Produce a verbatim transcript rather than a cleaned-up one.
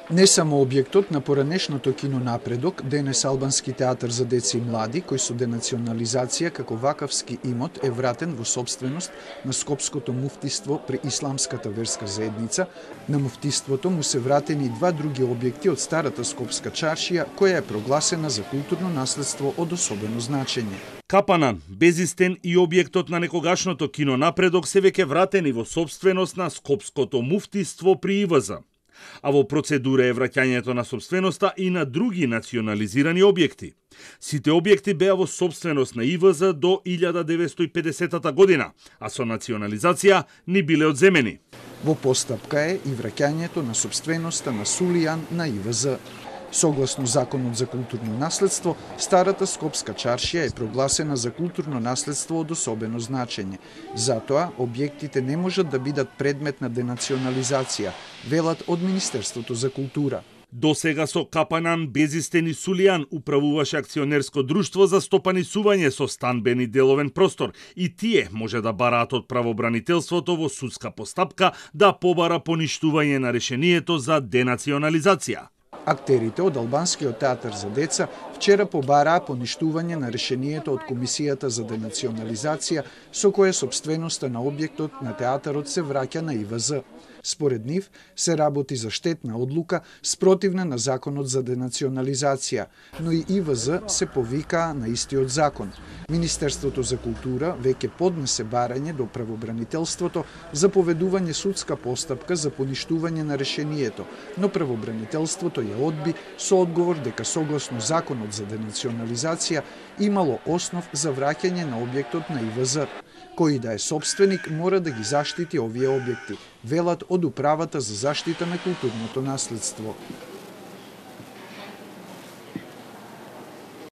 Не само објектот на поранешното кино Напредок, денес албански театар за деца и млади, кој со денационализација како вакавски имот е вратен во собственост на Скопското муфтиство при Исламската верска заедница, на муфтиството му се вратени и два други објекти од старата Скопска чаршија, која е прогласена за културно наследство од особено значење. Капанан, Безистен и објектот на некогашното кино Напредок се веќе вратени во собственост на Скопското муфтиство при И В З. А во процедура е враќањето на собственоста и на други национализирани објекти. Сите објекти беа во собственост на И В З до илјада деветстотини и педесетата година, а со национализација ни биле одземени. Во постапка е и враќањето на собственоста на Сулијан на И В З. Согласно Законот за културно наследство, старата Скопска чаршија е прогласена за културно наследство од особено значење. Затоа, објектите не можат да бидат предмет на денационализација, велат од Министерството за култура. До сега со Капанан, Безистен и Сулијан управуваше акционерско друштво за стопанисување со станбен и деловен простор и тие може да бараат од правобранителството во судска постапка да побара поништување на решението за денационализација. Актерите од Албанскиот театар за деца вчера побараа поништување на решението од Комисијата за денационализација со кое собственоста на објектот на театарот се враќа на И В З. Според нив се работи за штетна одлука спротивна на Законот за денационализација, но и И В З се повикаа на истиот закон. Министерството за култура веќе поднесе барање до правобранителството за поведување судска постапка за поништување на решението, но правобранителството ја одби со одговор дека согласно Законот за денационализација имало основ за враќање на објектот на И В З. Кој да е собственик мора да ги заштити овие објекти, велат од Управата за заштита на културното наследство.